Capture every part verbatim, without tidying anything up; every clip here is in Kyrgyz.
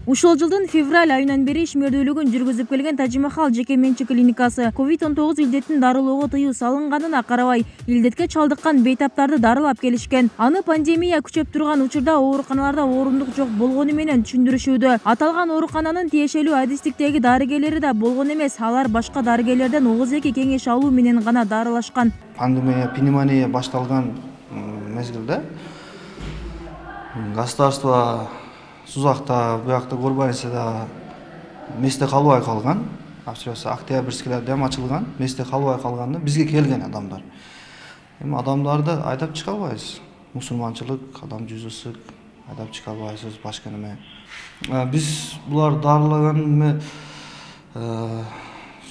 Ушул жылдын февраль айынан бери ишмердүүлүгүн жүргүзүп келген Тажимахал жеке менчик клиникасы ковид он тогуз илдетин дарылоого тыюу салынганына карабай илдетке чалдыккан бейтаптарды дарылап келишкен. Аны пандемия күчөп турган учурда ооруканаларда орундук жок болгону менен түшүндүрүшүүдө. Аталган оорукананын тиешелүү адистиктеги дарыгерлери да болгон эмес, алар башка дарыгерлерден огуз эки кеңеш алуу менен гана дарылашкан. Пандемия, пневмония башталган мезгилде государство Сузакта, буякта Горбарисада месте калбай калган, абсолютно октябрьскийлерде дем ачылган, месте калбай калганда бизге келген адамдар. Эми адамдарды айдап чыга албайбыз. Мусулманчылык, адам жүзү ысык, айдап чыга албайсыз, башка неме. Биз булар дарылаган эме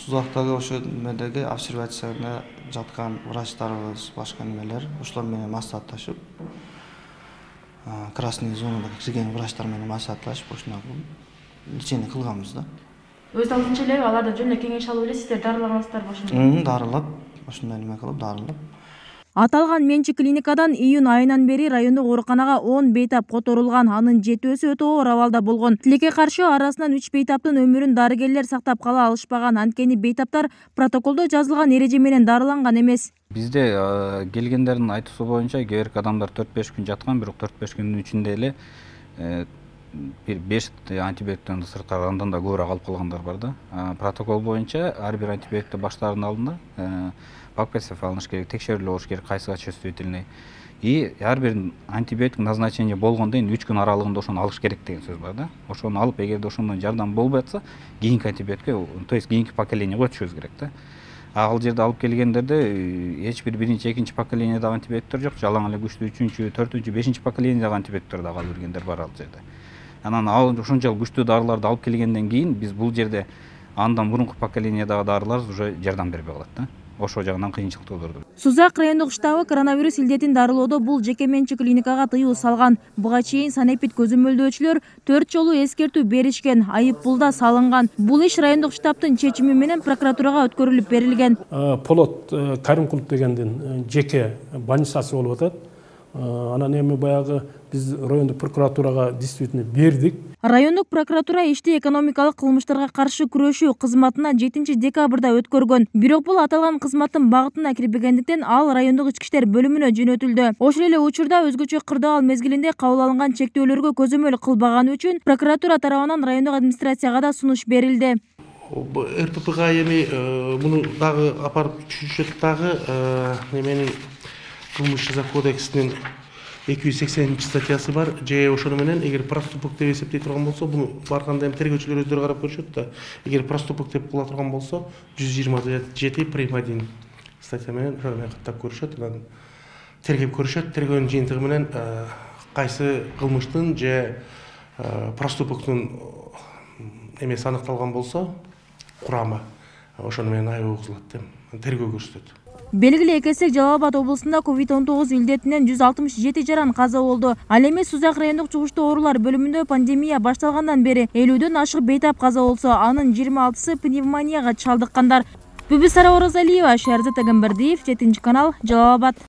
Сузактагы ошо немедеги обсервацияда жаткан врачтарыбыз, башка немелер, ошолор менен маслихатташып, красный зонада кирген врачтар менен маслихатташып, ошондой лечение кылганбыз да. Өз алдынча эле алардан жөн эле кеңеш алып эле сиздер дарылагансыздарбы ошондой? Дарылап, ошондой неме кылып дарылап. Аталган менчик клиникадан июнь айынан бери райондук ооруканага он бейтап которулган, анын жетөөсү өтө оор абалда болгон. Тилекке каршы арасынан үч бейтаптын өмүрүн дарыгерлер сактап кала алышпаган, анткени бейтаптар протоколдо жазылган эреже менен дарыланган эмес. Бизде келгендердин айтуусу боюнча кээ бирки адамдар төрт беш күн жаткан, бирок төрт беш күндүн ичинде эле бир беш антибиотиктен сырткары андан да көбүрөөк алып калгандар бар да. Протокол боюнча ар бир антибиотикти баштаардын алдында ПАП-тест алыныш керек, текшерүүлөр болуш керек, кайсыга чувствительный. И ар бир антибиотик назначение болгондон кийин үч күн аралыгында ошону алыш керек деген сөз бар да. Ошону алып, эгерде ошондон жардам болбой атса, кийинки антибиотикке, то есть кийинки поколениеге өтүшүбүз керек да. Ал жерде алып келгендерде эч бир биринчи, экинчи поколениядагы антибиотиктер жок, жалаң эле күчтүү үчүнчү, төртүнчү, бешинчи поколениядагы антибиотиктер дагы алып келгендер бар ал жерде. Анан ал ушунчалык күчтүү дарыларды алып келгенден кийин биз бул жерде андан мурунку поколениядагы дарылар уже жардам бербей калат да. Ошол жагынан кыйынчылык туудурду. Сузак райондук штабы коронавирус илдетин дарылоодо бул жеке менчик клиникага тыюу салган. Буга чейин санэпид көзөмөлдөөчүлөр төрт жолу эскертүү беришкен, айып пул да салынган. Бул иш райондук штабтын чечими менен прокуратурага өткөрүлүп берилген. Полот Каримкулов дегендин жеке больницасы болуп атат. Анан эми баягы биз райондук прокуратурага действительно бердик. Райондук прокуратура ишти экономикалык кылмыштарга каршы күрөшүү кызматына жетинчи декабрда өткөргөн. Бирок бул аталган кызматтын багытына кирбегендиктен ал райондук ички иштер бөлүмүнө жөнөтүлдү. Ошол эле учурда өзгөчө кырдаал мезгилинде кабыл алынган чектөөлөргө көзөмөл кылбаганы үчүн прокуратура тарабынан райондук администрацияга да сунуш берилди. РППга эми муну дагы апарып түшүшөт дагы неменин кылмыш жаза кодексинин эки жүз сексенинчи статьясы бар. Же ошону менен эгер проступок деп эсептей турган болсо, буну барганда эми тергөөчүлөр өздөрү карап көрүшөт да. Эгер проступок деп кыла турган болсо, жүз жыйырма жети прим один статья менен каттап көрүшөт. Анан тергеп көрүшөт. Тергөөнүн жыйынтыгы менен кайсы кылмыштын же проступоктун эмеси аныкталган болсо, курамы ошону менен айып угузулат деп тергөө көрсөтөт. Белгилүү экесек Жалал Абад облусунда ковид он тогуз илдетинен жүз алтымыш жети жаран каза болду. Ал эми Сузак райондук жугуштуу оорулар бөлүмүндө пандемия башталгандан бери элүүдөн ашык бейтап каза болсо, анын жыйырма алтысы пневмонияга чалдыккандар. Бүбүсара Оразалиева, Шерзат Агамбердиев, жетинчи канал, Жалал Абад.